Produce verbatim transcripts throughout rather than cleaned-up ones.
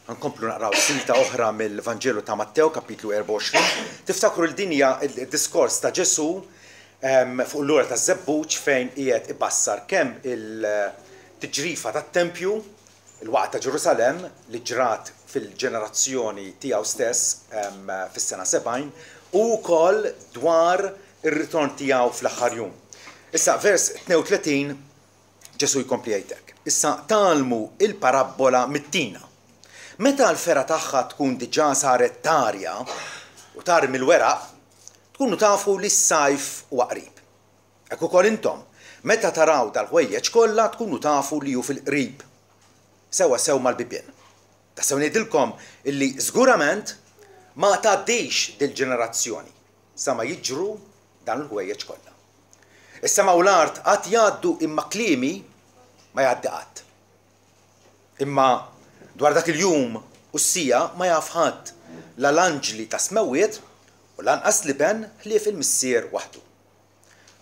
Nkomplu naqraw silta oħra mill-Vanġelu ta' Mattew, kapitlu erbgħa u għoxrin. Tiftakru l-dinja il-diskors ta' Ġesù fuq l-ura ta' Żebbuġ fejn qiegħed ibassar kemm il-tiġrifa tat-tempju, il-waqgħa ta' Ġerusalemm li ġrat fil-ġenerazzjoni tiegħu stess fis-sena sebgħin, u wkoll dwar ir-ritorn tiegħu fl-aħħar jum. Issa vers tnejn u tletin Ġesù jkompli jgħidlek. Issa tgħallmu il-parabbola mit-tina. Meta l-fergħa tagħha tkun diġà saret tarja u tarmi l-weraq, tkunu tafu li s-sajf huwa qrib. Hekk ukoll intom, meta taraw dal-ħwejjeġ kollha tkunu tafu li hu fil-qrib, sewwa sew mal-bibien. Tassew ngħidilkom illi żgurament ma tgħaddix dil-ġenerazzjoni sa ma jiġru dan il-ħwejjeġ kollha. Is-sema u l-art qatt jgħaddu imma kliemi ma jgħaddi qatt. Imma dwar dak il-jum u s-sija ma jaf ħadd, la l-anġli ta' smewwiet u lanqas l-iben ħlief il-missier waħdu.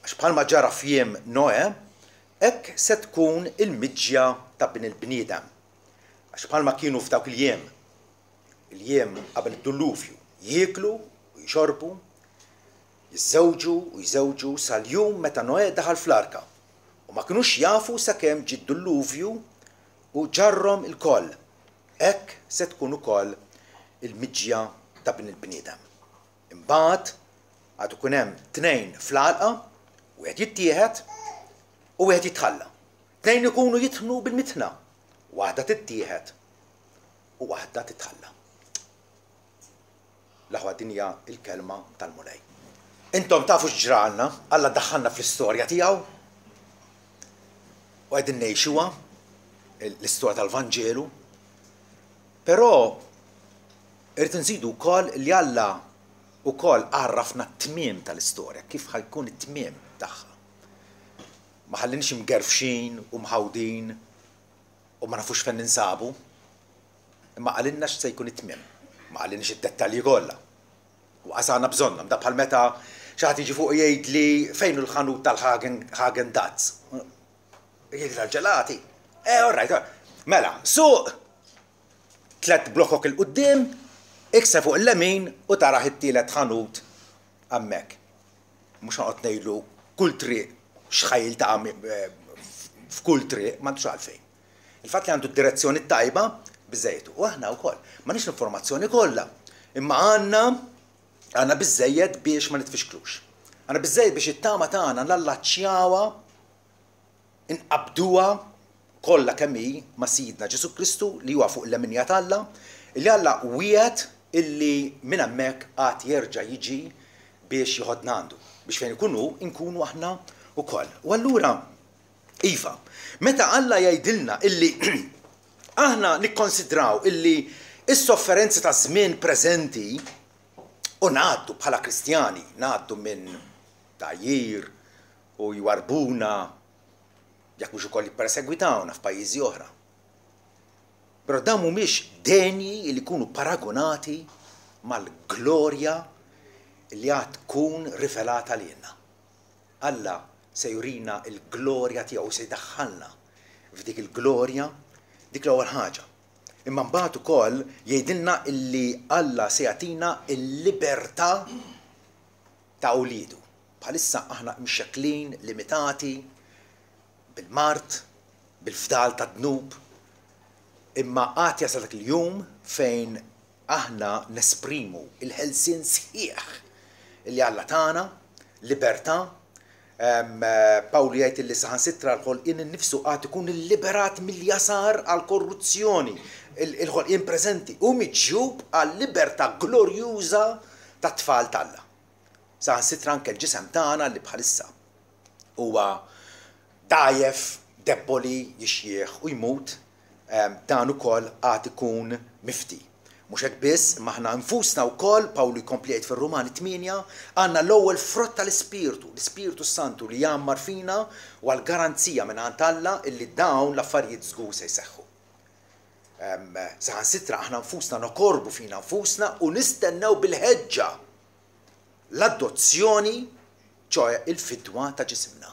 Għax bħalma ġara f'jiem Noè, hekk se tkun il-miġja ta' bin il-bniedem. Għax bħalma kienu f'dawk il-jiem, il-jiem qabel id-dulluvju, jieklu u jxorbu, jiżżewġu u jżewġu sal-jum meta Noè daħal fl-arka, u ma kinux jafu sakemm ġie d-dulluvju u ġarrom il-koll. Hekk se tkun ukoll il-miġja ta' bin il-bniedem. Imbagħad għad ikun hemm tnejn fl-għalqa, wieħed jittieħed u wieħed jitħalla. Tnejn ikunu jitħnu bil-mitħna, waħda tittieħed u waħda titħalla. L-aħwa, din hija l-kelma tal-Mulej. Intom tafu x'ġralna, Alla daħħalna fl-istorja tiegħu u qegħdin ngħixuha l-istorja tal-Vanġelu. Però irrid nżidu wkoll li Alla wkoll għarrafna t-tmiem tal-istorja, kif ħajkun it-tmiem tagħha. Ma ħallinix imgerfxin u mħawdin u ma nafux fejn ninsabu, imma qalilna x'se jkun it-tmiem. Ma qalilniex id-dettalji kollha. U qasana bżonnhom, da bħal meta xi ħadd jiġi fuq jgħidli fejn hu l-ħanut tal-Hagen Dazs. Jgħidli tal-ġelati. Eh, all right, all right. Mela, suq tlet blokok il-qudiem, ikse fuq il-lemin u taraħ it-tielet ħanut hemmhekk. Mhux noqgħod ngħidlu kull triq x'ħajl ta' f'kull triq, m'għandux għalfejn. Il-fatt li għandu d-direzzjoni tajba biżejjed. U aħna wkoll m'għandniex l-informazzjoni kollha, imma għandna għandna biżejjed biex ma nitfixklux. Għandna biżejjed biex it-tama tagħna nallaċċjawha, inqabduha kollha kemm hi ma' Sidna Ġesù Kristu li huwa fuq l-leminja t'Alla, li Alla wiegħed illi minn hemmhekk għad jerġa' jiġi biex joħodna għandu, biex fejn ikun hu nkunu aħna wkoll. U allura, iva, meta Alla jgħidilna illi aħna nikkonsidraw illi s-sofferenzi ta' żmien preżenti u ngħaddu bħala Kristjani, ngħaddu minn tgħajjir u jwarbuna, jekk mhux ukoll jippersegwitawna f'pajjiżi oħra. Però dawn mhumiex denji li jkunu paragonati mal-glorja li għad tkun rivelata lilna. Alla se jurina l-glorja tiegħu, se jdaħħalna f'dik il-glorja, dik l-ewwel ħaġa. Imma mbagħad ukoll jgħidilna illi Alla se jagħtina l-libertà ta' wliedu. Bħalissa aħna mxekklin, limitati bil-mard, bil-fdal ta' dnub, imma għad jasal dak il-jum fejn aħna nesprimu il-ħelsien sħiħ li Alla tana, libertà. Pawlu jgħid li saħansitra l-ħolqien innifsu għad ikun illiberat mill-jasar għall-korruzzjoni, il-ħolqien preżenti u miġjub għal-libertà glorjuża tat-tfal t'Alla. Saħansitra anke l-ġisem tagħna li bħalissa huwa dgħajjef, debboli, jixjieħ u jmut, dan ukoll għad ikun mifti. Mhux hekk biss, imma aħna nfusna wkoll, Pawlu jkompli jgħid fir-Rumani tmienja, għandna l-ewwel frott tal-Ispirtu, l-Ispirtu Santu li jgħammar fina u għall-garanzija minn għand Alla illi dawn l-affarijiet żgur se jseħħu. Saħansitra aħna nfusna nokorbu fina nfusna u nistennew bil-ħeġġa l-adozzjoni, ċoħe il-fidwa ta' ġisimna.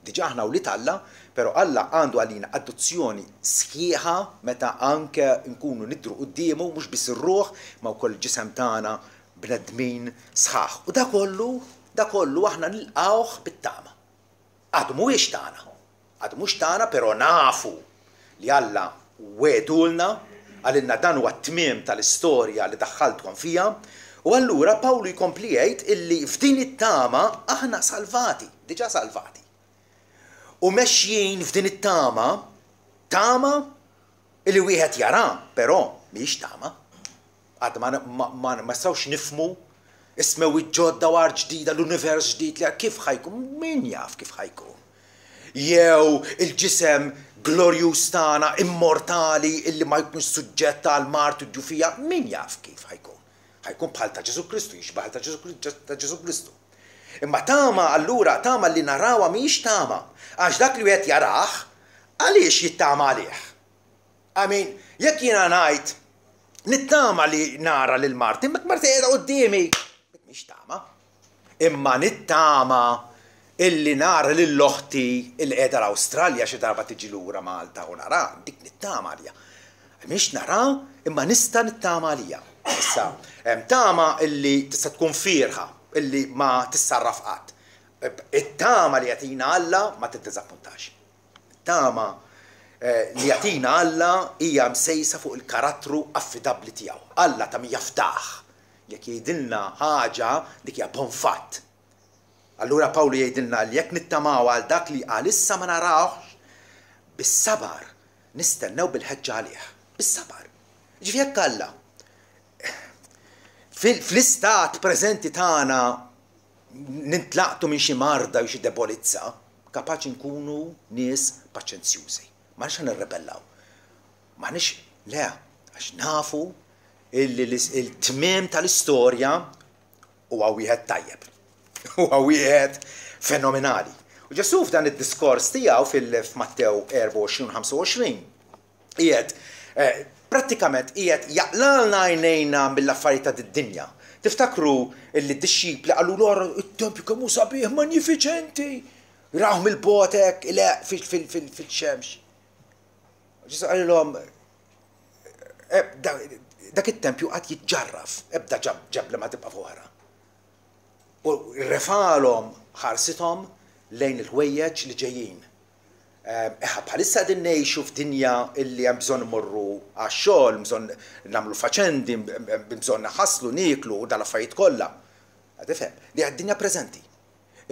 Diġà aħna wlied Alla, Però Alla għandu għalina adozzjoni sħiħa meta anke nkunu nidhru quddiemu, mhux biss ir-ruħ, ma wkoll il-ġisem tagħna bnedmin sħaħ. U da kollu, da kollu aħna nilqawh bit-tama. Għadu mhuwiex tagħna. Għadu mhux tagħna, però nafu li Alla wegħdulna, qalilna dan huwa t-tmiem tal-istorja li daħħaltkom fija. U allura Pawlu jkompli jgħid illi f'din it-tama aħna salvati, diġà salvati. U mexjin f'din it-tama, tama illi wieħed jara, però mhijiex tama. Għad ma, ma, ma, ma nistgħux nifhmu is-smewwiet ġodda u art ġdida, l-univers ġdid li kif ħa jkun, min jaf kif ħa jkun. Jew il-ġisem glorjuż tagħna immortali illi ma jkunx suġġett għal mard u djufija, min jaf kif ħa jkun. Ħa jkun bħal ta' Ġesù Kristu, jixbaħ ta' Ġesù Kristu. Imma tama allura, tama li narawha mhijiex tama. Għax dak li wieħed jarah, għaliex jittama għalih? I mean, jekk jiena ngħid nittama li nara lil Marti, imma Marti qiegħda quddiemi. Mhix tama. Imma nittama illi nara lil oħti illi qiegħda l-Awstralja xi darba tiġi lura Malta u nara, dik nittama għalija. Mhix nara, imma nista' nittama għalija. Issa, hemm tama illi tista' tkun fierħa, illi ma tissarraf qatt. It-tama li jagħtina Alla ma tiddiżappuntax. Tama li jagħtina Alla hija msejsa fuq il-karattru affidabbli tiegħu. Alla ta' min jafdah. Jekk jgħidilna ħaġa, dik hija bon fatt. Allura Pawlu jgħidilna li jekk nittamaw għal dak li għalissa ma narawx, bis-sabar nistennew bil-ħeġġa għalih. Bis-sabar. Ġifieri jekk Alla fl-istat preżenti tagħna nintlaqtu minn xi marda jew xi debolizza, kapaċi nkunu nies paċenzjużi. Ma nix nirrebellaw. Ma nix, le, għax nafu illi il-tmiem tal-istorja huwa wieħed tajjeb. Huwa wieħed fenomenali. U Ġesù f'dan id-diskors tiegħu fil-Mattew erbgħa u għoxrin ħamsa u għoxrin qiegħed prattikament qiegħed jaqlalna għajnejna mill-affarijiet ta' d-dinja. Tiftakru illi d-dixxipli qalu l it-tempju kemm hu sabiħ, magnifiċenti. Rawh mill-botek, ileq fil-xemx. Ġesù qalilhom, dak it-tempju qatt jiġġarraf, ebda ġebla ma tibqa' fuq oħra. U refalhom ħarsithom lejn il-ħwejjeġ li ġejjin. Eħa, bħalissa qegħdin ngħixu f'dinja illi hemm bżonn immorru għax-xogħol, bżonn nagħmlu faċendi, bżonn naħaslu, nieklu u dal-affarijiet kollha. Tifhem, li għad-dinja preżenti.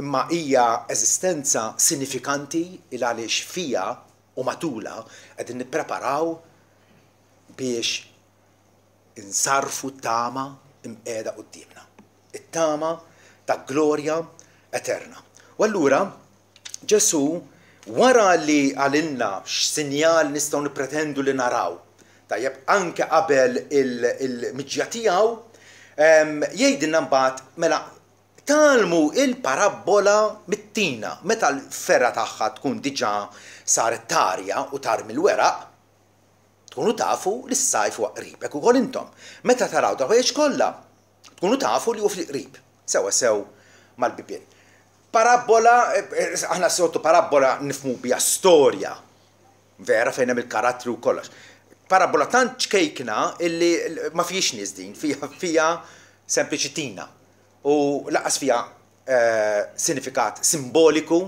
Imma hija eżistenza sinifikanti il għaliex fija u matula qegħdin nippreparaw biex insarfu t-tama imqiegħda quddiemna. It-tama ta' glorja eterna. U allura Ġesù wara li qalilna x'sinjal nistgħu nippretendu li naraw, tajjeb, anke qabel il-miġja tiegħu, jgħidilna mbagħad mela tgħallmu il-parabbola mit-tina, meta l-ferra tagħha tkun diġà saret tarja u tarmi l-weraq, tkunu tafu li s-sajf huwa qrib. Hekk ukoll intom, meta taraw dal-ħwejjeġ kollha, tkunu tafu li hu fil-qrib, sewwa sew mal-bibien. Parabbola, aħna soltu parabbola nifhmu biha storja, vera fejn hemm il-karattri u kollox. Parabbola tant ċkejkna illi ma fijiex nies din, fija, fija sempliċi tina. U laqas fija sinifikat simboliku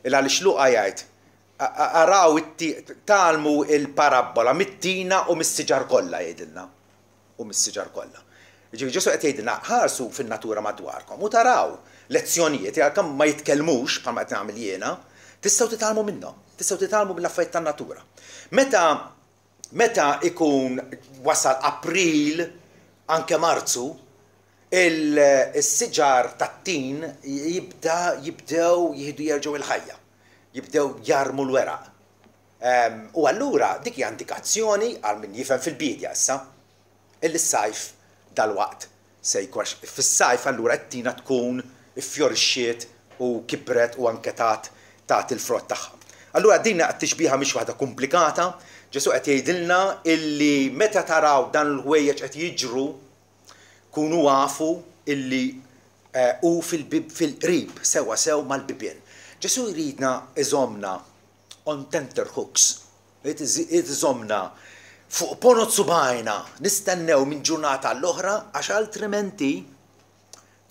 il għaliex Luqa jgħid araw tgħallmu il-parabbola mit-tina u mis-siġar kollha jgħidilna. U mis-siġar kollha. Ġifieri Ġesù qed jgħidilna ħarsu fin-natura madwarkom u taraw lezzjonijiet għalkemm ma jitkellmux bħalma qed nagħmel jiena, tistgħu titgħallmu minnhom, tistgħu titgħallmu mill-affarijiet tan-natura. Meta meta ikun wasal April, anke Marzu, il-siġar tat-tin jibda jibdew jieħdu jerġgħu il-ħajja, jibdew jarmu l-weraq. U allura dik hija indikazzjoni għal min jifhem fil-bidja issa illi s-sajf dal-waqt se jkun, fis-sajf allura t-tina tkun iffjorixxiet u kibret u anke tat tat il-frott tagħha. Allura din t-tixbiha mhix waħda komplikata, Ġesù qed jgħidilna illi meta taraw dan l-ħwejjeġ qed jiġru, kunu għafu illi hu fil-bib fil-qrib sewwa sew mal-bibien. Ġesù jridna iżomna on tenterhooks. Irid iżommna fuq ponot subgħajna, nistennew minn ġurnata għall-oħra, għax altrimenti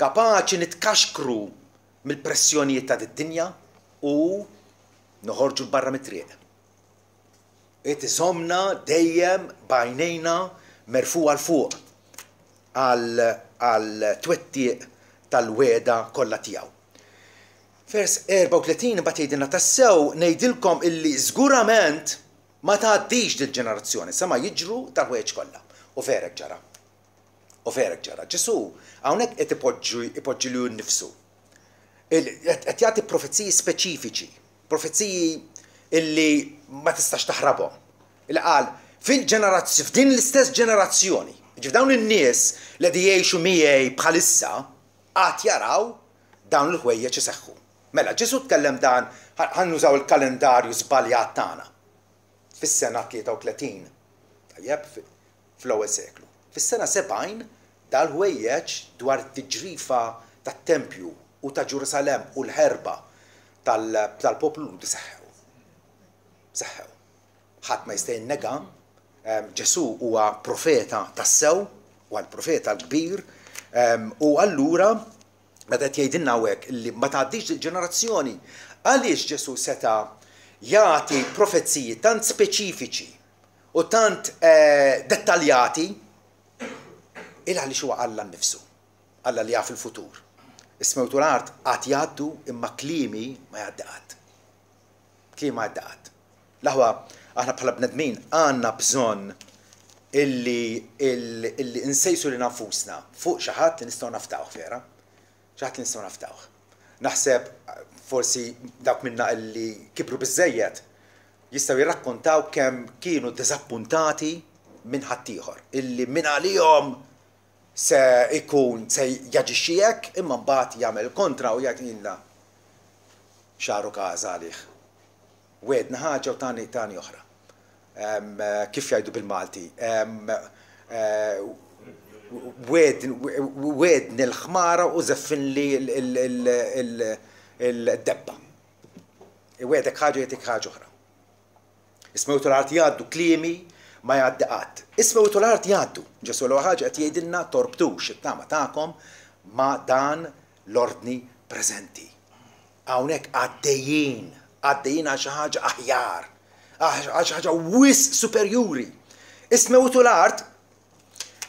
kapaċi nitkaxkru mill-pressjonijiet ta' d-dinja u noħorġu barra mit-triq. Irid iżommna dejjem b'għajnejna merfugħa 'l fuq għal twettiq tal-wegħda kollha tiegħu. Vers erbgħa u tletin imbagħad jgħidilna: "Tassew ngħidilkom illi żgurament ma tgħaddix dil-ġenerazzjoni sa ma jiġru dal-ħwejjeġ kollha." U vera hekk ġara. U vera hekk ġara. Ġesù hawnhekk qed ipoġġi ipoġġi lilu nnifsu. Qed jagħti profeziji speċifiċi, profeziji illi ma tistax taħrabhom. Il qal fil-ġenerazzjoni, f'din l-istess ġenerazzjoni, ġif dawn in-nies li qed jgħixu miegħi bħalissa għad jaraw dawn il-ħwejjeġ iseħħu. Mela, Ġesù tkellem dan, ħa nużaw il-kalendarju żbaljat tagħna, fis-sena tlieta u tletin. Tajjeb, fl-ewwel seklu. Fis-sena sebgħin dal-ħwejjeġ dwar it-tiġrifa tat-tempju u ta' Ġerusalemm u l-ħerba tal-poplu Lhudi seħħew. Seħħew. Ħadd ma jista' jinnega, Ġesù huwa profeta tassew, huwa l-profeta l-kbir, u allura meta qed jgħidilna hawnhekk li ma tgħaddix il-ġenerazzjoni, għaliex Ġesù seta' jagħti profeziji tant speċifiċi u tant eh, dettaljati? Il għaliex huwa Alla nnifsu, Alla li jaf il-futur. Is-smewt u l-art għad jgħaddu, imma kliemi ma jgħaddi qatt. Kliemi ma jgħaddi qatt. L-aħwa, aħna bħala bnedmin għandna bżonn illi illi insejsu lilna nfusna fuq xi ħadd li nistgħu nafdawh vera. Xi ħadd li nistgħu nafdawh. Naħseb forsi dawk minna illi kibru biżejjed jistgħu jirrakkontaw kemm kienu diżappuntati minn ħaddieħor illi minn għalihom se ikun se jaġixxi hekk, imma mbagħad jagħmel kontra u jgħid ilna xaru każa għalih. Wegħedna ħaġa u tani tani oħra. Kif jgħidu bil-Malti? Wegħedni l-ħmara u żeffinli l-debba. Iwegħdek ħaġa, jagħtik ħaġa oħra. Is-smewt u l-art jgħaddu, kliemi ma jgħaddi qatt. Is-smewt u l-art jgħaddu. Ġesù l ħaġa qed jgħidilna: torbtux it-tama tagħkom ma' dan l-ordni preżenti. Hawnhekk għaddejjin, għaddejjin għal xi ħaġa aħjar, għal xi ħaġa wisq superjuri. Is-smewt u l-art,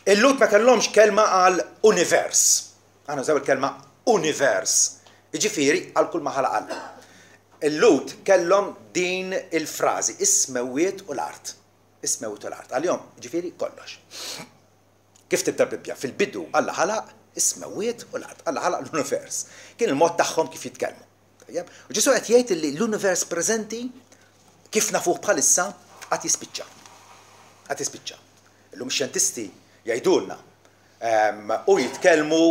il-Lhud ma kellhomx kelma għal univers. Aħna nużaw il-kelma univers. Jiġifieri għal kull ma ħalaq Alla. Il-Lhud kellhom din il-frażi, is-smewwiet u l-art. Is-smewwiet u l-art. Għalihom, ġifieri kollox. Kif tibda Bibbja? "Fil-bidu Alla ħalaq is-smewwiet u l-art." Alla ħalaq l-univers. Kien il-mod tagħhom kif jitkellmu. U Ġesù qed jgħid li l-univers preżenti kif nafuh bħalissa għad jispiċċa. Għad jispiċċa. Illum xjentisti jgħidulna u jitkellmu,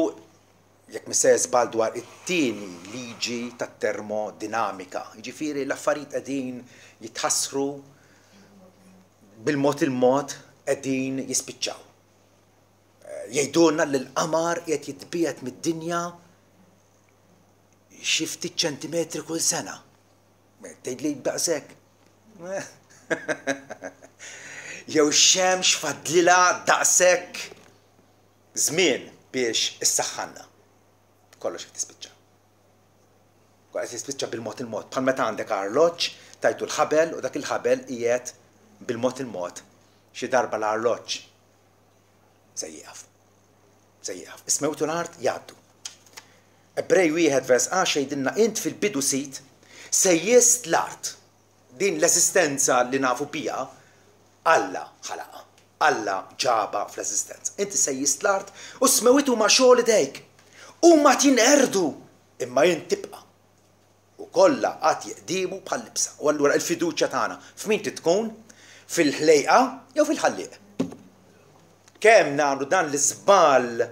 jekk mhux sejjer żball, dwar it-tieni liġi tat-termodinamika. Jiġifieri l-affarijiet qegħdin jitħassru bil-mod il-mod, qegħdin jispiċċaw. Jgħidulna li l-qamar qed jitbiegħed mid-dinja xi ftit ċentimetri kull sena. Tgħid li daqshekk. Jew xemx fadlilha daqshekk żmien biex issaħħanna. Kollox qed tispiċċa. Kollox qed tispiċċa bil-mod il-mod. Bħal meta għandek arloġġ, tajtu l-ħabel u dak il-ħabel qiegħed bil-mod il-mod. Xi darba l-arloġġ se jieqaf. Se jieqaf. Is-smewt u l-art jgħaddu. Ebrej wieħed vers għaxra jgħidilna: "Int fil-bidu, Sid, sejjest l-art." Din l-eżistenza li nafu biha, Alla ħalaqa. Alla ġabha fl-eżistenza. "Inti sejjist l-art u s-smewwiet huma xogħol idejk. Huma jinqerdu, imma int tibqa'. U kollha għad jeqdimu bħal libsa." U allura il-fiduċja tagħna f'min tkun? Fil-ħlejqa jew fil-ħallieq? Kemm nagħmlu dan l-iżball,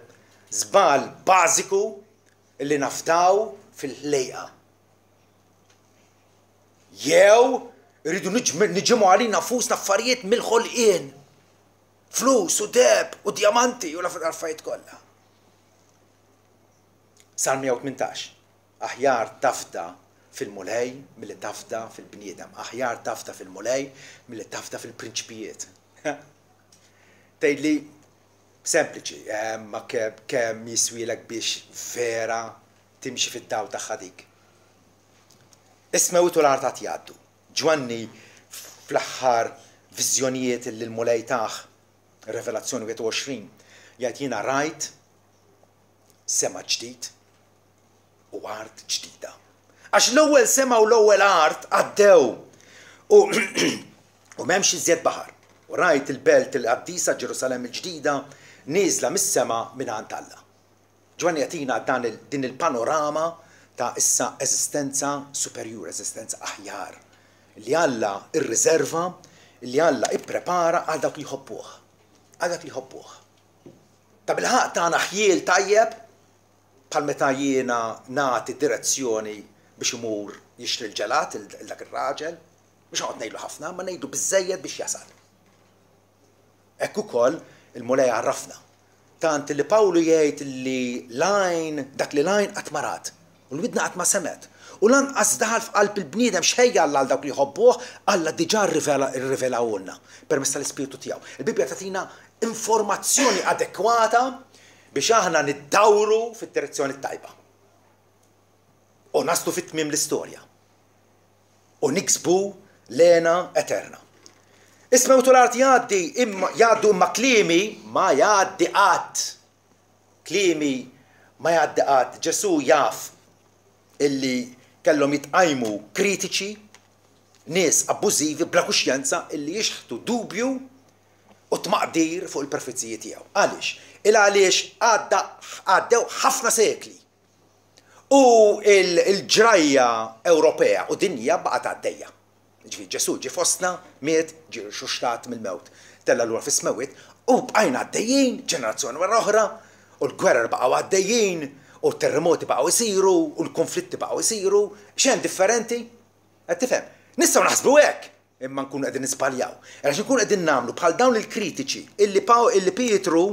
żball bażiku li nafdaw fil-ħlejqa? Jew rridu niġimgħu għalina nfusna affarijiet mill-ħolqien. Flus u deheb u diamanti u l-affarijiet kollha. Salm mija u tmintax. Aħjar tafda fil-Mulej milli tafda fil-bniedem. Aħjar tafda fil-Mulej milli tafda fil-prinċpijiet. Tgħidli sempliċi, ma kemm jiswielek biex vera timxi fid-dawl tagħha dik. Is-smewwiet u l-art għad jgħaddu. Ġwanni fl-aħħar viżjonijiet li l-Mulej tah, Revelazzjoni wieħed u għoxrin, jgħid jiena rajt sema ġdid u art ġdida. Għax l-ewwel sema u l-ewwel art għaddew u u m'hemmx iżjed baħar. U rajt il-belt il-qaddisa Ġerusalemm il-ġdida nieżla mis-sema minn għand Alla. Ġwanni jagħtina dan il, din il-panorama ta' issa eżistenza superjur, eżistenza aħjar, li Alla irriserva, li Alla ipprepara għal dawk li jħobbuh. Għal dak li jħobbuh. Ta' bilħaqq tagħna ħjiel tajjeb bħal meta jiena nagħti direzzjoni biex imur jixtri l-ġelat il dak ir-raġel, mhux noqgħod ngħidlu ħafna, ma ngħidu biżżejjed biex jasal. Hekk ukoll il-Mulej għarrafna. Tant li Pawlu jgħid li l-għajn, dak li l-għajn qatt ma rat, u l-widna qatt ma semgħet, u lanqas daħal f'qalb il-bniedem x'ħejja Alla għal dawk li jħobbuh, Alla diġà rrivelahulna permezz tal-Ispirtu tiegħu. Il-Bibbja tagħtina informazzjoni adekwata biex aħna niddawru fid-direzzjoni t-tajba. U naslu fit-tmiem l-istorja. U niksbu l-hena eterna. Is-smewt u l-art jgħaddi imma jgħaddu imma kliemi ma jgħaddi qatt. Kliemi ma jgħaddi qatt. Ġesù jaf illi kellhom jitqajmu kritiċi, nies abbużivi bla kuxjenza illi jixħtu dubju u tmaqdir fuq il-profeziji tiegħu. Għaliex? Il għaliex għadda għaddew ħafna sekli. U il-ġrajja Ewropea u dinja baqgħet għaddejja. Ġifieri Ġesù ġie fostna, miet, ġie rxuxtat mill-mewt, tella' lura fis-smewwiet u bqajna għaddejjin ġenerazzjoni wara oħra u l-gwerer baqgħu għaddejjin u t-terremoti baqgħu jsiru u l-konflitti baqgħu jsiru. X'hemm differenti? Qed tifhem? Nistgħu naħsbu hekk, imma nkunu qegħdin niżbaljaw. Għax nkunu qegħdin nagħmlu bħal dawn il-kritiċi illi Paw illi Pietru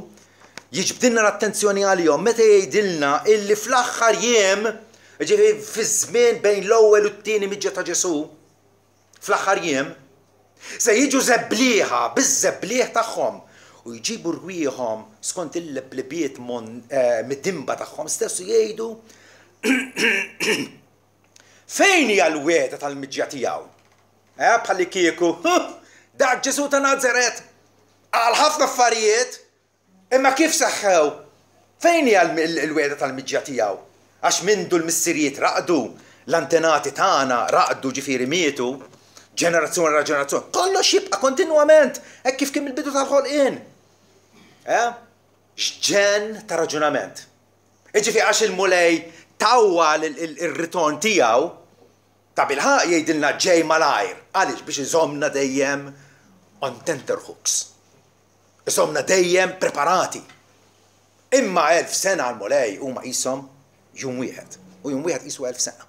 jiġbdilna l-attenzjoni għalihom meta jgħidilna illi fl-aħħar jiem, ġifieri fiż-żmien bejn l-ewwel u t-tieni miġja ta' Ġesù, fl-aħħar jiem, se jiġu żebblieħa biż-żebbliħ tagħhom u jġibu rwieħhom skont il-leblibiet midinba tagħhom stess u jgħidu fejn hija l-wegħda tal-miġja tiegħu? Eh, bħallikieku, dak Ġesù ta' Nazaret qal ħafna affarijiet, imma kif seħħew? Fejn hija l-wegħda tal-miġja tiegħu? Għax mindu l-missirijiet raqdu, l-antenati tagħna raqdu ġifieri mietu, ġenerazzjoni wara ġenerazzjoni, kollox jibqa' kontinwament hekk kif kien mill-bidu tal-ħolqien. Eh? X'ġenn ta' raġunament. Jiġifieri għax il-Mulej tawwal ir-ritorn tiegħu, tabilħaqq jgħidilna ġej malajr. Għaliex? Biex iżommna dejjem on tenterhooks. Iżommna dejjem preparati. Imma elf sena għall-Mulej huma qishom jum wieħed. U jum wieħed qisu elf sena.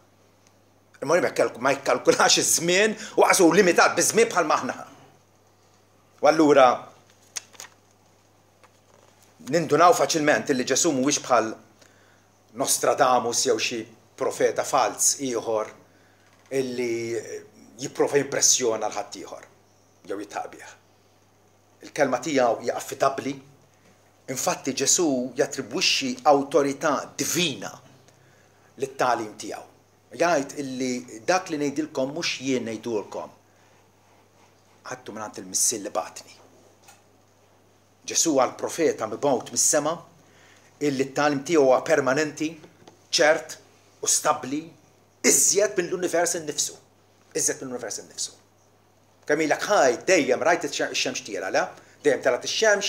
Il-Mulej ma jikkalkulax iż-żmien u qasu limitat biż-żmien bħal maħna. U allura nindunaw faċilment illi Ġesù mhuwiex bħal Nostradamus jew xi profeta falz ieħor illi jipprova jimpressjona l ħaddieħor jew jitħaq bih. Il-kelma tiegħu hija affidabbli. Infatti Ġesù jattribwixxi awtorità divina lit-tagħlim tiegħu. Jgħid illi dak li ngħidilkom mhux jien ngħidulkom. Ħadtu mingħand il-Missier li bagħatni. Ġesù huwa l-profeta mibgħut mis-sema illi t-tagħlim tiegħu huwa permanenti, ċert u stabbli iżjed mill-univers innifsu. Iżjed mill-univers innifsu. Kemm ilek ħaj dejjem rajt ix-xemx tiela, le? Dejjem telgħet ix-xemx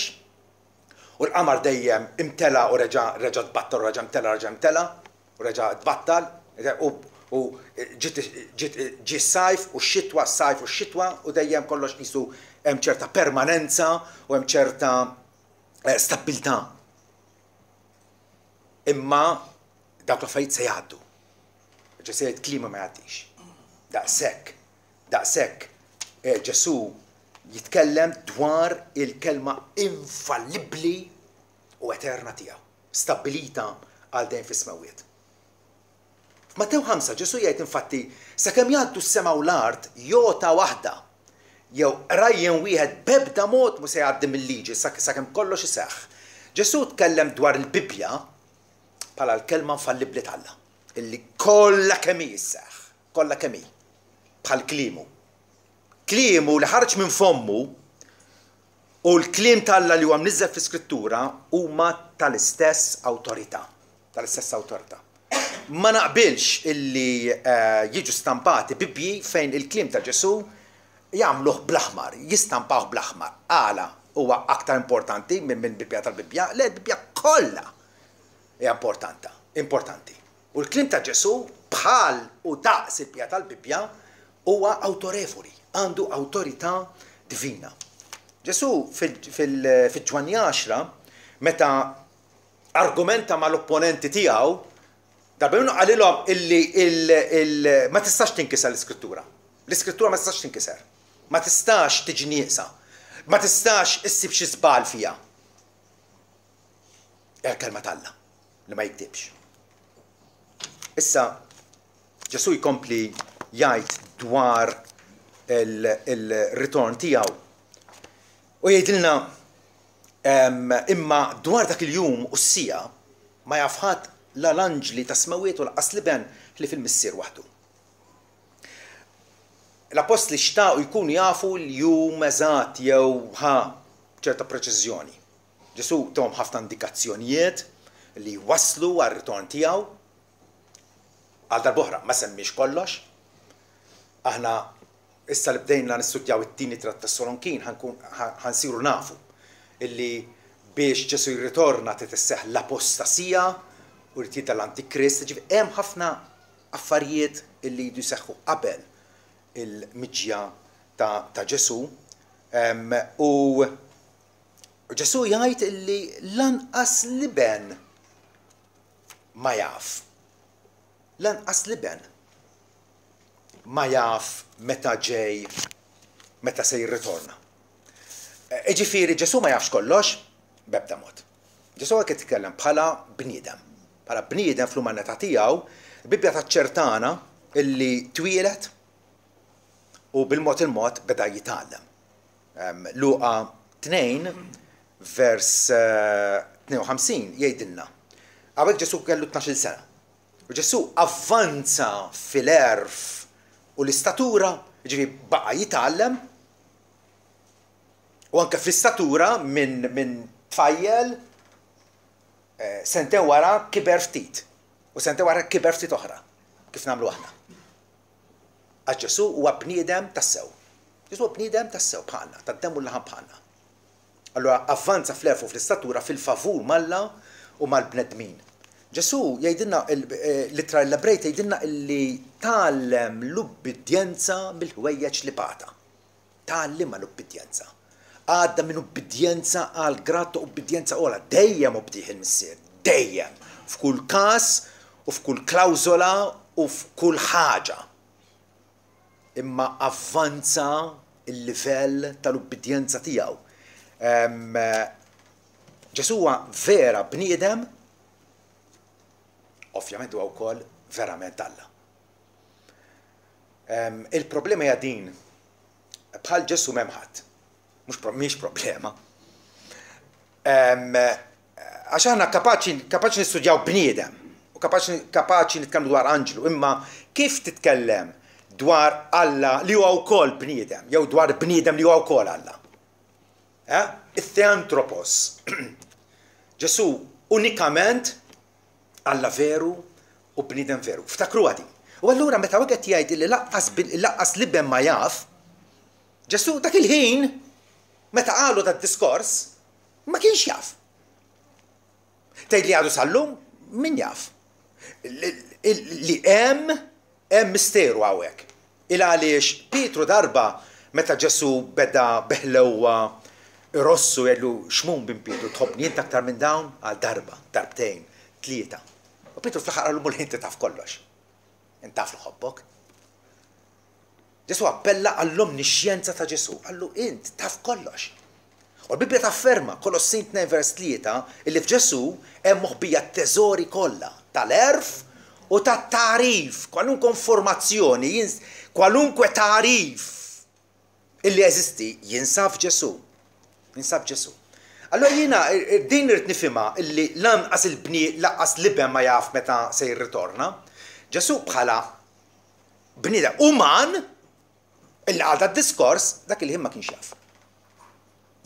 u l-qamar dejjem imtela u reġa' reġa' tbattal u reġa' imtela reġa' imtela u reġa' tbattal u u ġiet ġiet ġie s-sajf u x-xitwa, s-sajf u x-xitwa u dejjem kollox qisu hemm ċerta permanenza u hemm ċerta stabbiltà. Imma dawk l-affarijiet se jgħaddu. Ġesù jgħid kliema ma jgħaddix. Daqshekk, daqshekk Ġesù jitkellem dwar il-kelma infallibbli u eterna tiegħu, stabbilita għal dejjem fis-smewwiet. F'Mattew ħamsa Ġesù jgħid infatti sakemm jgħaddu s-sema u l-art jota waħda jew rajjen wieħed b'ebda mod mhu se jgħaddi mill-liġi sakemm kollox iseħħ. Ġesù tkellem dwar il-Bibbja bħala l-kelma infallibbli t'Alla, illi kollha kemm hi sseħħ, kollha kemm hi, bħal kliemu. Kliemu li ħareġ minn fommu u l-kliem t'Alla li huwa mniżżel fl-Iskrittura huma tal-istess awtorità, tal-istess awtorità. Ma naqbilx illi uh, jiġu stampati Bibbji fejn il-kliem ta' Ġesù jagħmluh bl-aħmar, jistampawh bl-aħmar. Għala huwa aktar importanti minn min Bibbja tal-Bibbja, le, l-Bibbja kollha hija importanta, importanti. U l-kliem ta' Ġesù bħal u daqs il-Bibbja tal-Bibbja huwa awtorevoli, għandu awtorità divina. Ġesù fil-Ġwanni għaxra, meta argumenta mal-opponenti tiegħu, darba minnu qalilhom illi ma tistax tinkiser l-Iskrittura. L-Iskrittura ma tistax tinkiser. Ma tistax tiġi nieqsa. Ma tistax issib xi żball fiha. Hija l-kelma t'Alla li ma jikdibx. Issa Ġesù jkompli jgħid dwar il-ritorn tiegħu u jgħidilna imma dwar dak il-jum u s-siegħa ma jaf ħadd la l-anġli ta' smawiet u lanqas l-Iben li fil-Missier waħdu. L-apostli xtaqu jkunu jafu l-jum eżatt jew ħa ċerta preċiżjoni. Ġesù tahom ħafna indikazzjonijiet li waslu għar-ritorn tiegħu. Għal darb'oħra ma semmiex kollox. Aħna issa li bdejna nistudjaw it-tieni ittra Tessalonikin ħansiru nafu illi biex Ġesù jirritorna trid isseħħ l-apostasija u jrid jidher l-Antikrist, ġifieri hemm ħafna affarijiet illi jridu jseħħu qabel il-miġja ta', ta Ġesù. Um, u Ġesù jgħid illi lanqas l-Iben ma jaf. Lanqas l-Iben ma jaf meta ġej, meta se jirritorna. Ġifieri Ġesù ma jafx kollox b'ebda mod. Ġesù qed jitkellem bħala bniedem. Bħala bniedem fl-umanità tiegħu, il-Bibbja taċċertana illi twieled u bil-mod il-mod beda jitgħallem. Luqa tnejn vers tnejn u ħamsin jgħidilna. Hawnhekk Ġesù kellu tnax-il sena. U Ġesù avvanza fil-għerf u l-istatura, ġifieri baqa' jitgħallem, u anke fl-istatura minn min tfajjel sentejn wara kiber ftit, u sentejn wara kiber ftit oħra, kif nagħmlu aħna. Għax Ġesù huwa bniedem tassew. Ġesù huwa bniedem tassew bħalna, tad-demm u l-laħam bħalna. Allura avvanza fl-għerf u fl-istatura fil-favur m'Alla u mal-bnedmin. Ġesù jgħidilna, l-ittra l-Ebrej tgħidilna illi tgħallem l-ubbidjenza mill-ħwejjeġ li bata. Tgħallimha l-ubbidjenza. Għadda minn ubbidjenza għal grad ta' ubbidjenza ogħla, dejjem obdih il-Missier, dejjem, f'kull każ u f'kull klawżola u f'kull ħaġa. Imma avvanza il-livell tal-ubbidjenza tiegħu. Ġesù huwa vera bniedem, ovvjament huwa wkoll verament Alla. Il-problema hija din, bħal Ġesù m'hemm ħadd. Mhux mhix problema. Għax aħna kapaċi kapaċi nistudjaw bniedem u kapaċi kapaċi nitkellmu dwar anġlu, imma kif titkellem dwar Alla li huwa wkoll bniedem, jew dwar bniedem li huwa wkoll Alla? Eh? It-Theanthropos. Ġesù unikament Alla veru u bniedem veru. Ftakru għadi. U allura meta wieħed jgħid li laqqas laqqas l-Iben ma jaf, Ġesù dak il-ħin meta qalu dat diskors ma kienx jaf. Tgħid li għadu sal-lum, min jaf? Li hemm hemm misteru hawnhekk. Il għaliex Pietru darba meta Ġesù beda beħlewwa irossu jgħidlu Xmun bin Pietru tħobbni int aktar minn dawn? Għal darba, darbtejn, tlieta. U Pietru fl-aħħar qallu Mulej inti taf kollox. Int taf li ħobbok. Ġesù appella għall-omnixxjenza ta' Ġesù, qallu int taf kollox. U l-Bibbja tafferma, Kolossin tnejn vers tlieta, illi f'Ġesù hemm moħbija t-teżori kollha tal-għerf u tat-tagħrif, kwalunkwe informazzjoni, kwalunkwe tagħrif illi jeżisti jinsab f'Ġesù. Jinsab Ġesù. Allora jiena din irrid nifhimha illi lanqas il-bni lanqas l-iben ma jaf meta se jirritorna. Ġesù bħala bniedem uman illi għal diskors dak il-ħin ma kienx jaf.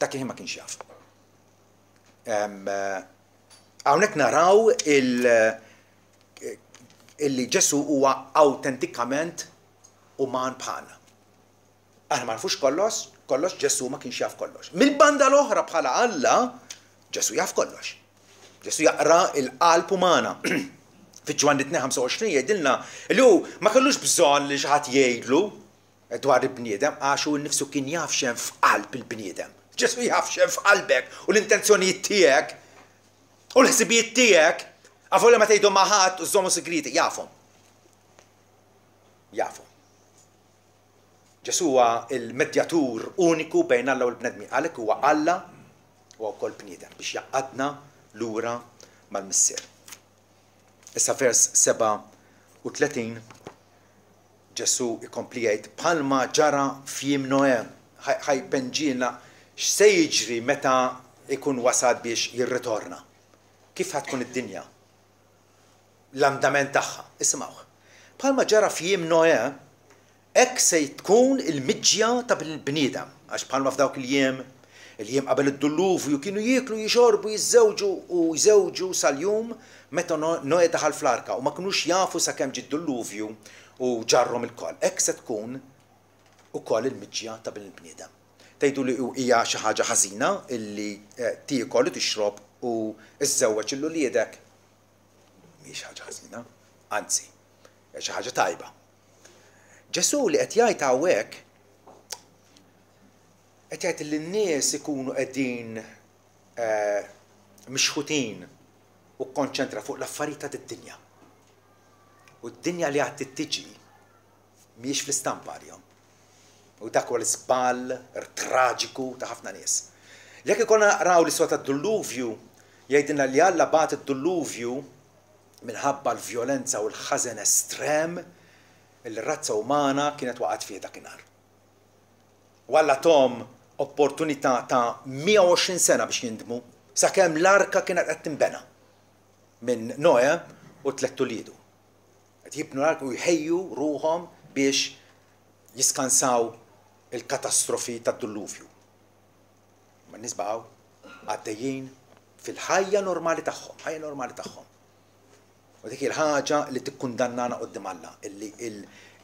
Dak il-ħin ma kienx jaf. Hawnhekk naraw il- illi Ġesù huwa awtentikament uman bħalna. Aħna ma nafux kollox, kollox Ġesù ma kienx jaf kollox. Mill-banda l-oħra bħala Alla, Ġesù jaf kollox. Ġesù jaqra il-qalb umana. Fi Ġwanni tnejn ħamsa u għoxrin jgħidilna li hu ma kellux bżonn li xi ħadd jgħidlu dwar il-bniedem għax hu nnifsu kien jaf x'hemm f'qalb il-bniedem. Ġesù jaf x'hemm f'qalbek u l-intenzjonijiet tiegħek u l-ħsibijiet tiegħek, avolja ma tgħidhom ma' ħadd u żommu segreti, jafhom. Jafhom. Ġesù huwa il-medjatur uniku bejn Alla u l-bnedmin, għalhekk huwa Alla u wkoll bniedem biex jaqadna lura mal-Missier. Issa vers sebgħa u tletin Ġesù ikompli jgħid bħalma ġara f'jiem Noè, ħajpenġilna x'se jiġri meta ikun wasal biex jirritorna. Kif ħa tkun id-dinja? L-andament tagħha. Isimgħuh. Bħalma ġara f'jiem Noè, hekk se tkun il-miġja ta' bil-bniedem, għax bħalma f'dawk il-jiem, il-jiem qabel id-dulluvju kienu jieklu, jixorbu, jiżżewġu u jżewġu sal-jum meta Noè daħal fl-arka u ma kinux jafu sakemm ġie d-dulluvju u ġarrhom ilkoll. Hekk se tkun ukoll il-miġja ta' bil-bniedem. Tgħidu li hija xi ħaġa ħażina illi tiekol u tixrob u żżewweġ lil uliedek. Mhix ħaġa ħażina, anzi, hija xi ħaġa tajba. Ġesù li qed jgħid hawnhekk qed jgħid li n-nies ikunu qegħdin mixħutin u kkonċentra fuq l-affarijiet ta' d-dinja. U d-dinja li għad tiġi mhijiex fl-istampa għalihom. U dak huwa l-iżball traġiku ta' ħafna nies. Jekk ikollna naqraw l-istorja tad-dulluvju, jgħidilna li Alla bagħat id-dulluvju minħabba l-vjolenza u l-ħażen estrem li r-razza umana kienet waqgħet fih dakinhar. U Alla tom opportunità ta' mija u għoxrin sena biex jindmu sakemm l-arka kienet qed tinbena minn Noè u tliet uliedu. Qed jibnu l-arka u jħejju ruħhom biex jiskansaw il-katastrofi tad-dulluvju. Ma n-nies baqgħu għaddejjin fil-ħajja normali tagħhom, ħajja normali tagħhom. U dik il-ħaġa li tikkundannana quddiem Alla, illi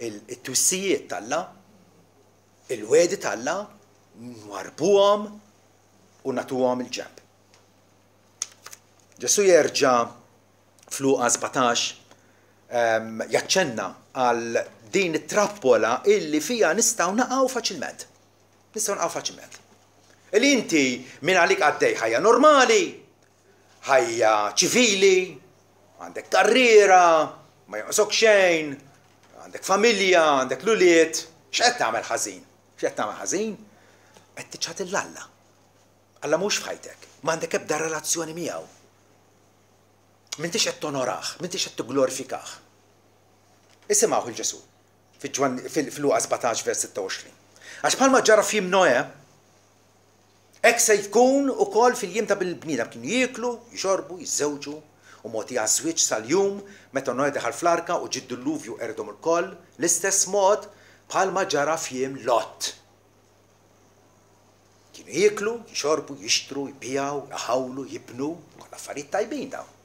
il-twissijiet t'Alla, il-wegħdi t'Alla, nwarbuhom u nagħtuhom il-ġenb. Ġesù jerġa' f'Luqa sbatax jaċċenna għal din it-trappola illi fija nistgħu naqgħu faċilment. Nistgħu naqgħu faċilment. Illi inti minn għalik għaddej ħajja normali, ħajja ċivili, għandek karriera, ma jonqosok xejn, għandek familja, għandek l-ulied, x'qed tagħmel ħażin? X'qed tagħmel ħażin? Qed tiċħad lil Alla. Alla mhux f'ħajtek, m'għandek ebda relazzjoni miegħu. M'intix qed tonorah, m'intix qed tigglorifikah. Isimgħu il Ġesù fil-Luqa sbatax vers sitta u għoxrin. Għax bħalma ġara f'jiem Noè, hekk se jkun ukoll fil-jiem ta' bil-bniedem kienu jieklu, jixorbu, jiżżewġu u mogħti għaż-żwieġ sal-jum meta Noè daħal fl-arka u ġie d-dulluvju qerdhom ukoll, l-istess mod bħalma ġara f'jiem Lot. Kienu jieklu, jixorbu, jixtru, jbiegħu, jħawlu, jibnu, kollha affarijiet tajbin dawn.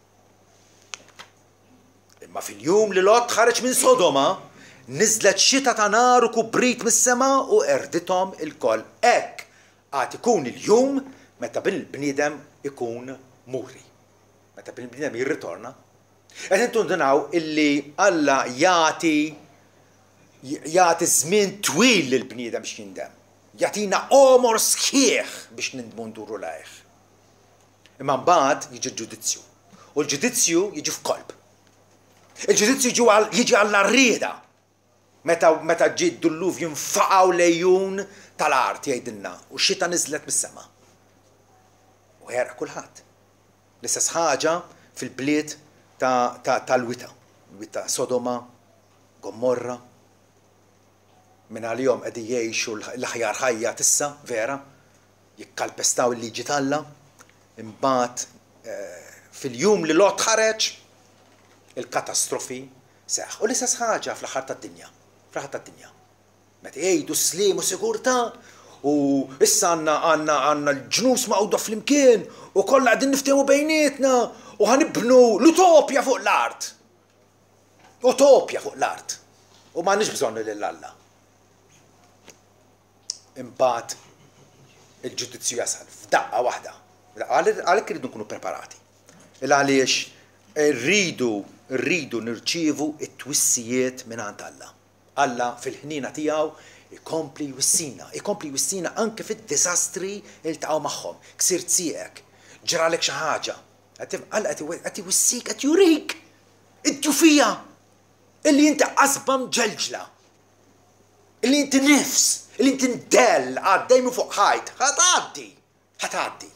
Imma fil-jum li Lot ħareġ minn Sodoma, niżlet xita ta' nar u kubrit mis-sema u qerdithom ilkoll. Hekk għad ikun il-jum meta bil-bniedem ikun muri. Meta bil-bniedem jirritorna. Qed intundunaw illi Alla jagħti jagħti żmien twil lill-bniedem biex jindem. Jagħtina għomor sħiħ biex nindmu nduru lejh. Imma mbagħad jiġi l-ġudizzju. U l-ġudizzju jiġi f'kolb. Il-ġudizzju jiġi għall-arrieda. Meta, meta ġie d-dulluvju jinfaqgħu lejun tal-art jgħidilna u xita niżlet mis-sema. U ħeraq kulħadd. L-istess ħaġa fil-bliet tal-wita. Il-wied ta' Sodoma, Gomorra. Minn għalihom qegħdin jgħixu l-aħjar ħajja tissa, vera, jikkalpestaw il-liġi t'Alla. Imbagħad fil-jum li Lot ħareġ, il-katastrofi seħħ. U l-istess ħaġa fl-aħħar tad-dinja, fl-aħħar tad-dinja. Meta jgħidu sliem u sigurtà, u issa għandna għandna għandna l-ġnus maqgħuda flimkien u kollha qegħdin niftehmu bejnietna u ħanibnu l-utopja fuq l-art. Utopja fuq l-art. U m'għandniex bżonn lil Alla. Imbagħad il-ġudizzju jasal f'daqqa waħda. Għalhekk irridu nkunu preparati. Il għaliex rridu rridu nirċievu it-twissijiet mingħand Alla. Alla fil-ħnina tiegħu ikompli jwissina, ikompli jwissina anke fid-diżastri li ltaqgħu magħhom. Ksirt sieqek, ġralek xi ħaġa. Alla qed iwissik, qed jurik id-djufija illi inti qasba mġelġla, illi inti nifs, illi inti ndell għaddej minn fuq ħajt, ħa tgħaddi, ħa tgħaddi.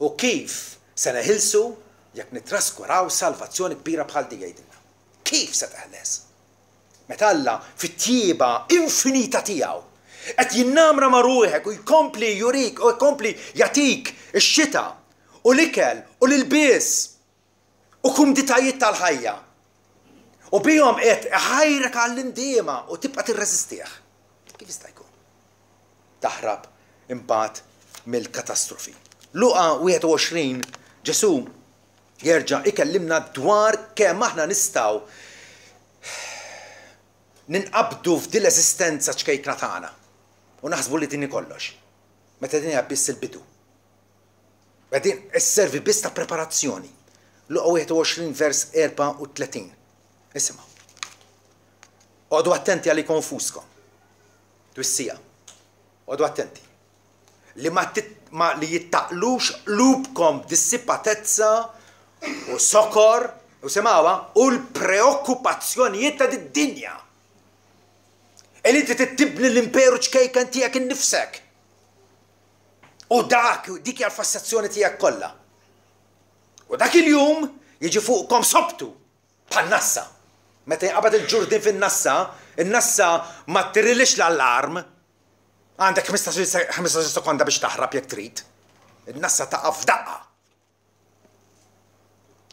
U kif se neħilsu jekk nitraskuraw salvazzjoni kbira bħal di jgħidilna? Kif se teħles? Meta Alla fit-tjieba infinita tiegħu qed jinnamra ma' ruħek u jkompli jurik u jkompli jagħtik ix-xita u l-ikel u l-ilbies u kumditajiet tal-ħajja. U bihom qed iħajrek għall-indiema u tibqa' tirreżistih. Kif jista' jkun? Taħrab imbagħad mill-katastrofi. Luqa wieħed u għoxrin Ġesù jerġa' ikellimna dwar kemm aħna nistgħu ninqabdu f'din l-eżistenza ċkejkna tagħna u naħsbu li din hi kollox, meta din hija biss il-bidu. Din isservi biss ta' preparazzjoni. Luqa wieħed u għoxrin vers erbgħa u tletin. Isimgħu. Oqogħdu attenti għalikom infuskom. Twissija. Oqogħdu attenti. Li ma, ma li jittaqlux qlubkom b'dissipatezza u sokor u semawa u l-preokkupazzjonijiet ta' did-dinja. Illi inti tibni l-imperu ċkejken tiegħek innifsek. U dak, dik hija l-fassazzjoni tiegħek kollha. U dak il-jum jiġi fuqkom sobtu bħal nassa. Meta jinqabad il-ġurdin fin-nassa, in-nassa ma tirilix l-allarm. Għandek ħmistax-il sekonda biex taħrab jekk trid. In-nassa taqa' f'daqqa.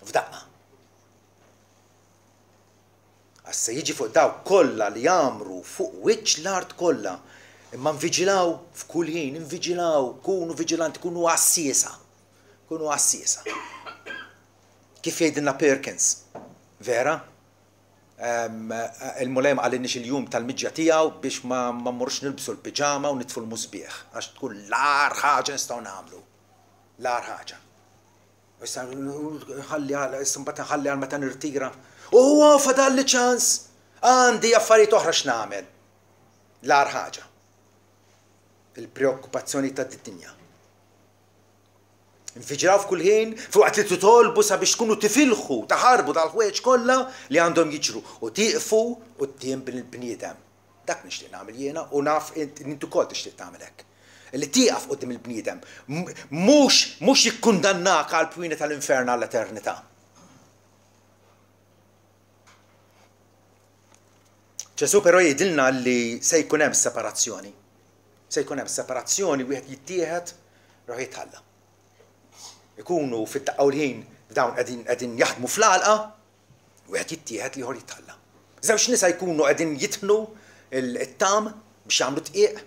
F'daqqa. Għax se jiġi fuq dawk kollha li jagħmru fuq wiċċ l-art kollha. Imma nviġilaw f'kull ħin, nviġilaw, kunu viġilanti, kunu għassiesa. Kunu għassiesa. Kif jgħidilna Perkins, vera? Il-Mulej ma qalilniex il-jum tal-miġja tiegħu biex ma mmorrux nilbsu l-piġama u nitfu l-musbieħ, għax tkun l-agħar ħaġa nistgħu nagħmlu. L-agħar ħaġa. Issa ħalli għal, issa mbagħad nħalli għal meta nirtira. U huwa fadalli ċans, għandi affarijiet oħra x'nagħmel. L-agħar ħaġa. Il-preokkupazzjoni ta' dinja. Nfiġraw f'kull ħin, fuqat li titolbu sabiex tkunu tifilħu, taħarbu tal-ħwejjeġ kollha li għandhom jiġru u tieqfu quddiem il-bniedem. Dak nixtieq nagħmel jiena u naf int ukoll tixtieq tagħmel hekk. Li tieqaf quddiem il-bniedem, mhux mhux jikkundannak għal pwini tal-infern għall-eternità. Ġesù però jgħidilna li se jkun hemm separazzjoni. Se jkun hemm separazzjoni, wieħed jittieħed, ruħ jitħalla. Ikunu fid-daqqa u l-ħin dawn qegħdin qegħdin jaħdmu fl-għalqa, wieħed jittieħed l-ieħor jitħalla. Żewġ nisa jkunu qegħdin jitħnu it-tam biex jagħmlu tqiq,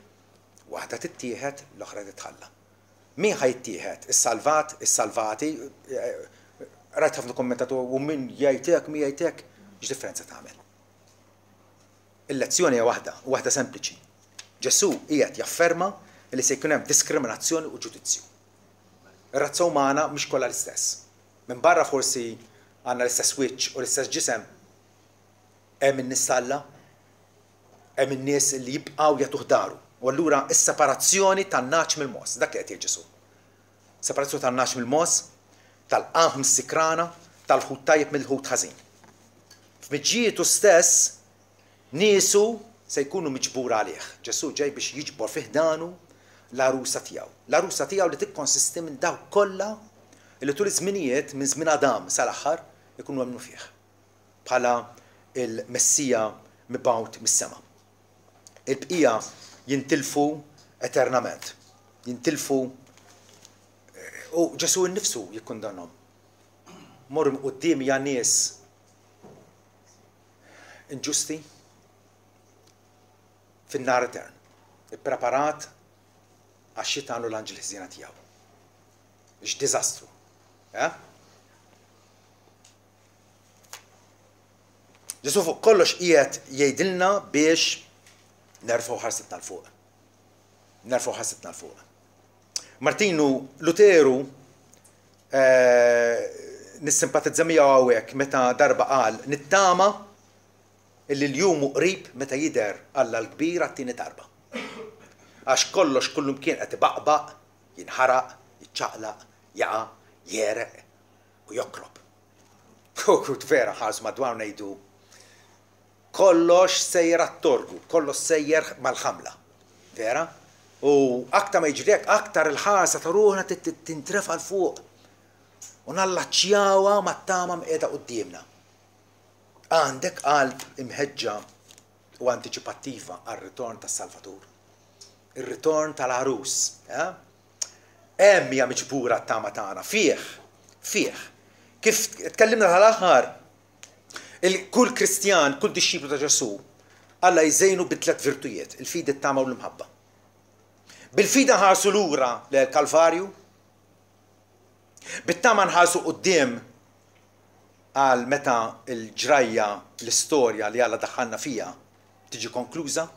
waħda tittieħed, l-oħra titħalla. Min ħa jittieħed? Is-salvat, is-salvati, rajt ħafna kommentatur u min jgħid hekk, min jgħid hekk, x'differenza tagħmel? Il-lezzjoni hija waħda, u waħda sempliċi. Ġesù qiegħed jafferma li se jkun hemm diskriminazzjoni u ġudizzju. Ir-razza umana mhix kollha l-istess. Minn barra forsi għandna l-istess wiċċ u l-istess ġisem, hemm in-nies t'Alla, hemm in-nies li jibqgħu jagħtuh daru. U allura s-separazzjoni tan-nagħaġ mill-mogħoż, dak li qed jgħid Ġesù. Separazzjoni tan-nagħaġ mill-mogħoż, tal-qamħ mis-sikrana, tal-ħut tajjeb mill-ħut ħażin. F'miġjietu stess niesu se jkunu miġbura għalih. Ġesù ġej biex jiġbor fi ħdanu l-għarusa tiegħu. L-għarusa tiegħu li tikkonsisti minn dawk kollha li tul iż-żminijiet minn żmien Adam sal-aħħar ikunu emmnu fih. bħala il-Messija mibgħut mis-sema. Il-bqija jintilfu eternament. Jintilfu u Ġesù nnifsu jikkundannhom. Morru minn quddiemi ja nies inġusti fin-nar etern, ippreparat għax-xitan u l-anġli ħżiena tiegħu. X'diżastru. Eh? Ġesù fuq kollox qiegħed jgħidilna biex nerfgħu ħarsitna 'l fuq. Nerfgħu ħarsitna 'l fuq. Martinu Luteru eh, nissimpatizza miegħu hawnhekk meta darba qal nittama illi l-jum hu qrib meta jidher Alla l-kbir għat-tieni darba. Għax kollox kullumkien qed ibaqbaq, jinħaraq, jiċċaqlaq, jaqa', jegħreq u jokrob. U vera nħarsu madwar ngħidu kollox sejjer għat-torgu, kollox sejjer mal-ħamla. Vera? U aktar ma jiġri hekk, aktar il-ħarsa ta' ruħna tintrefa' 'l fuq u nallaċċjawha mat-tama mqiegħda quddiemna. Għandek qalb imħeġġa u antiċipattiva għar-ritorn tas-Salvatur. Ir-ritorn tal-għarus. Eh? Hemm hija miġbura t-tama tagħna, fih, fih. Kif tkellimna tal-aħħar, kull Kristjan, kull dixxiplu ta' Ġesù, Alla jżejnu bi tliet virtujiet, il-fidi, it-tama u l-imħabba. Bil-fidi nħarsu lura lejn il-Kalvarju, bit-tama nħarsu quddiem għal meta l-ġrajja, l-istorja li Alla daħħalna fiha tiġi konkluża,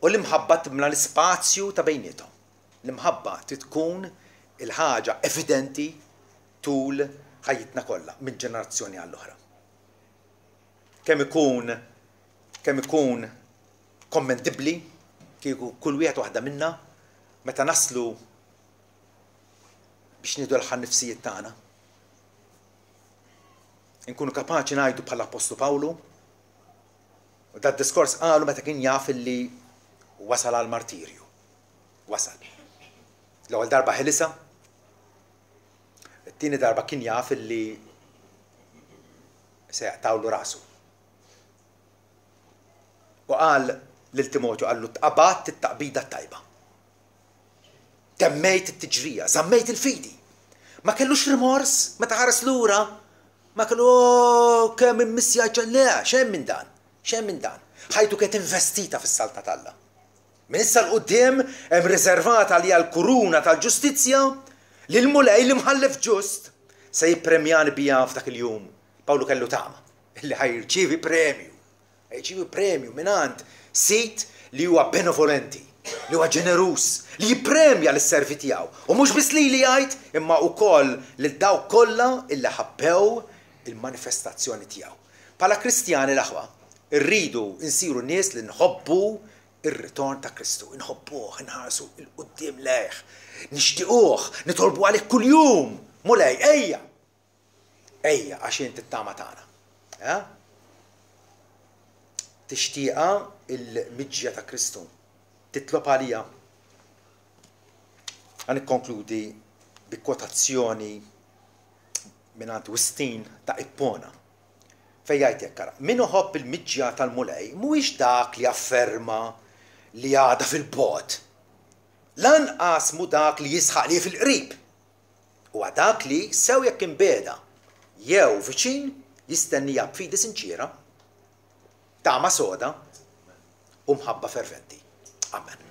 u l-imħabba timla l-ispazju ta' bejniethom. L-imħabba trid tkun il-ħaġa evidenti tul ħajjitna kollha, minn ġenerazzjoni għall-oħra. Kemm ikun kemm ikun kommendibbli kieku kull wieħed waħda minna meta naslu biex nieħdu l-aħħar nifsijiet tagħna. Inkunu kapaċi ngħidu bħall-Appostlu Pawlu, u dat diskors qalu meta kien jaf illi wasal għal martirju. Wasal. L-ewwel darba ħelisha, it-tieni darba kien jaf illi se jaqtawlu rasu. U qal lil Timotju, qallu tqabadt it-taqbida t-tajba. Temmejt it-tiġrija, żammejt il-fidi. Ma kellux rimors meta ħares lura, ma kellu oh, kemm immissja le, xejn minn dan, xejn minn dan. Ħajtu kienet investita fis-saltna t'Alla. Minn issa 'l quddiem hemm riservata għalija l-kuruna tal-ġustizzja li l-Mulej l-imħallef ġust se jippremjani biha f'dak il-jum. Pawlu kellu tama li ħa jirċievi premju. Jirċievi premju mingħand sid li huwa benevolenti, li huwa ġeneruż, li jippremja lis-servi tiegħu. U mhux biss lili jgħid, imma wkoll lil dawk kollha illi ħabbew il-manifestazzjoni tiegħu. Bħala Kristjani l-aħwa, irridu nsiru nies li nħobbu ir-ritorn ta' Kristu, inħobbuh, inħarsu 'l quddiem lejh, nixtiquh, nitolbu għalih kuljum. Mulej, ejja! Ejja, għax int it-tama tagħna. Eh? Tixtieqha il-miġja ta' Kristu. Titlob għalija. Għan nikkonkludi bi kwotazzjoni mingħand Wistin ta' Ippona. Fejn jgħid hekk, ara, min iħobb il-miġja tal-Mulej mhuwiex dak li jafferma li għadha fil-bogħod. Lanqas mhu dak li jisħaq li hi fil-qrib. Huwa dak li, sew jekk imbiegħda jew viċin, jistenniha b'fidi sinċiera, tama soda u mħabba ferventi. Amen.